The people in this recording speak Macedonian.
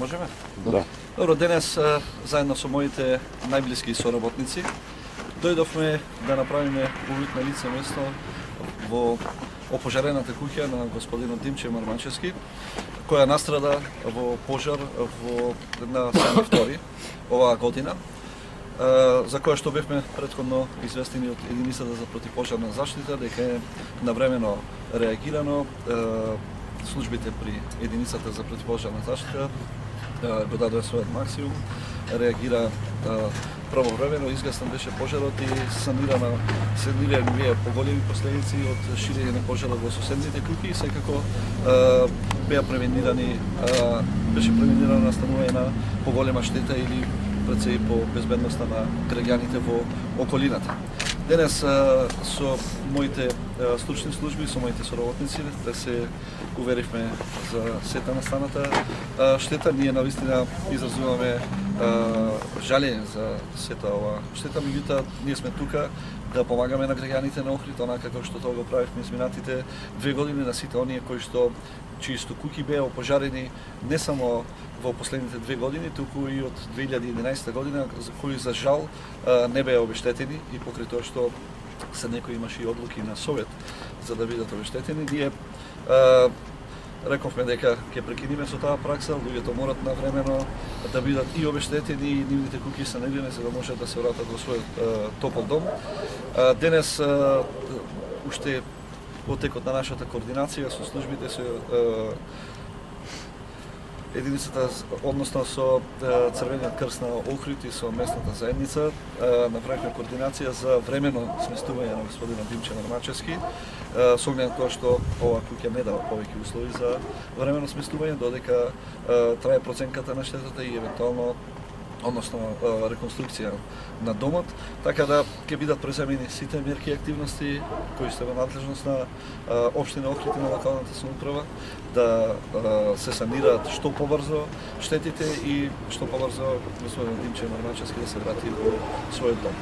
Можеме? Да. Добро, денес заедно со моите најблиски соработници дојдовме да направиме увид на лице место во опожарената куќа на господинот Димче Мармачевски, која настрада во пожар на 7.2 оваа година, за која што бевме претходно известени од единицата за противпожарна заштита дека е навремено реагирано. Службите при единицата за противпожарна заштита го дадоа својот максимум, реагира правовремено, изгасен беше пожарот и санирани вие поголеми последици од ширење на пожарот во соседните куќи и секако беше превенирано настанување на поголема штета или пред се и по безбедноста на граѓаните во околината. Денес со моите стручни служби, со моите соработници, да се уверивме за сета настаната штета. Ние навистина изразуваме жалење за сета ова штета, меѓутоа ние сме тука да помагаме на граѓаните на Охрид, онака како што тоа го правивме изминатите 2 години на сите оние чии куќи беа опожарени не само во последните 2 години, туку и од 2011 година, за кои за жал не беа обештетени и покрај тоа што се некои имаше и одлуки на Совет за да бидат обештетени. Ние рековме дека ќе прекинеме со таа пракса, луѓето морат навремено да бидат и обештетени и нивните куќи се негрени за да можат да се вратат во својот топол дом. Денес уште во текот на нашата координација со службите се единицата, односно со Црвениот крст на Охрид и со местната заедница направивме координација за времено сместување на господинот Димче Мармачевски, со оглед на тоа што оваа куќа не дава повеќе услови за времено сместување додека трае проценката на штетата и евентуално реконструкција на домот, така да ќе бидат преземени сите мерки и активности кои се во надлежност на општина Охрид и на локалната самоуправа, да се санираат што побрзо штетите и што побрзо господин Димче Мармачевски да се врати во својот дом.